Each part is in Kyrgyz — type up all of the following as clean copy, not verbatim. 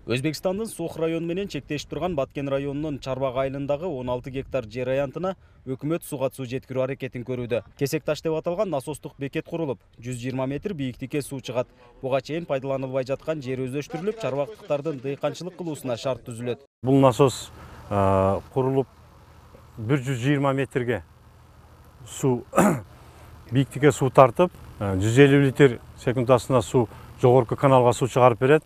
Өзбекстандын Сух району менен чектешип турган Баткен районунун Чарбак айылындагы 16 гектар жер аянтына өкмөт суга суу жеткирүү аракетин көрүүдө. Кесек таш деп аталган насостук бекет курулуп, 120 метр бийиктикке суу чыгат. Буга чейин пайдаланылбай жаткан жер өздөштүрүлүп, чарбактыктардын дыйканчылык кылуусуна шарт түзүлөт. Бул насос курулуп 120 метрге суу бийиктикке суу тартып, 150 литр секундасына суу жогорку каналга суу чыгарып берет.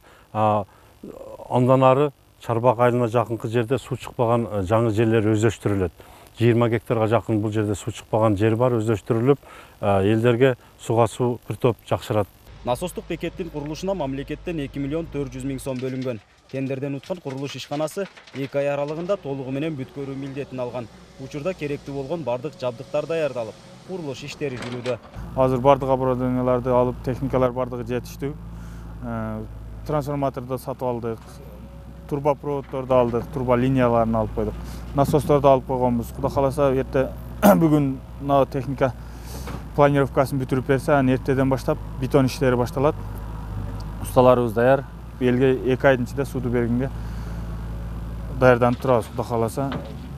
Андан ары Чарбак айылына жакынкы жерде суу чыкпаган жаңы жерлер өздөштүрүлөт. 20 гектарга жакын бул жерде суу чыкпаган жер бар, өздөштүрүлүп, элдерге суга суу бир топ жакшырат. Насостук бекеттин курулушуна мамлекеттен 2 миллион 400 миң сом бөлүнгөн. Тендерден уткан курулуш ишканасы 2 ай аралыгында толугу менен бүткөрүү милдетин алган. Учурда керектүү болгон бардык жабдыктар даярдалып, курулуш иштери жүрүүдө. Азыр бардык оборудованияларды алып, техникалар бардыгы жетиштүү. Трансформаторду сатып алдык, турбопроводдорду алдык, турбо линияларын алып койдук. Насосторду алып койгонбуз. Кудай кааласа, эрте бүгүн мына техника планировкасын бүтүрүп берсе, анан эртеден баштап бетон иштери башталат. Усталарыбыз даяр. Элге 2 айдын ичинде сууду бергенге даярданып турабыз. Кудай кааласа,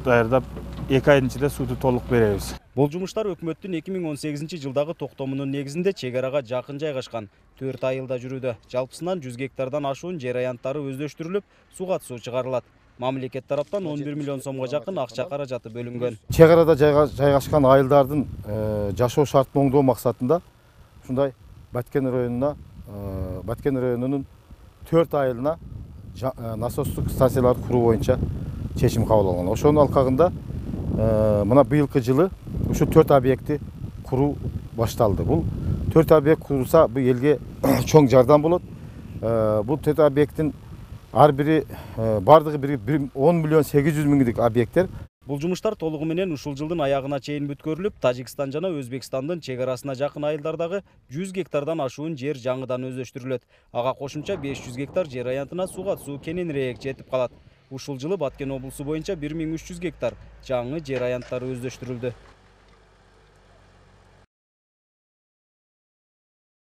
даярдап 2 айдын ичинде сууду толук беребиз. Бул жумуштар өкмөттүн 2018-жылдагы токтомунун негизинде чек арага жакын жайгашкан 4 айылда жүрүүдө. Жалпысынан 100 гектардан ашуун жер аянттары өздөштүрүлүп, суга суу чыгарылат. Мамлекет тараптан 11 миллион сомго жакын акча каражаты бөлүнгөн. Чек арада жайгашкан айылдардын жашоо шартын оңдоо максатында ушундай Баткен районунун 4 айылына насостук станцияларды куруу боюнча чечим кабыл алынган. Ошонун алкагында мына быйылкы жылы ушу 4 объектти куруу башталды. Бул 4 объект курулса, бул элге чоң жардам болот. Бул 4 объекттин ар бири бардыгы 10 миллион 800 миңдик объекттер. Бул жумуштар толугу менен ушул жылдын аягына чейин бүткөрүлүп, Тажикстан жана Өзбекстандын чек арасына жакын айылдардагы 100 гектардан ашуун жер жаңыдан өздөштүрүлөт. Ага кошумча 500 гектар жер аянтына суга суу кененирээк жетип калат. Ушул жылы Баткен облусу боюнча 1300 гектар жаңы жер аянттары өздөштүрүлдү.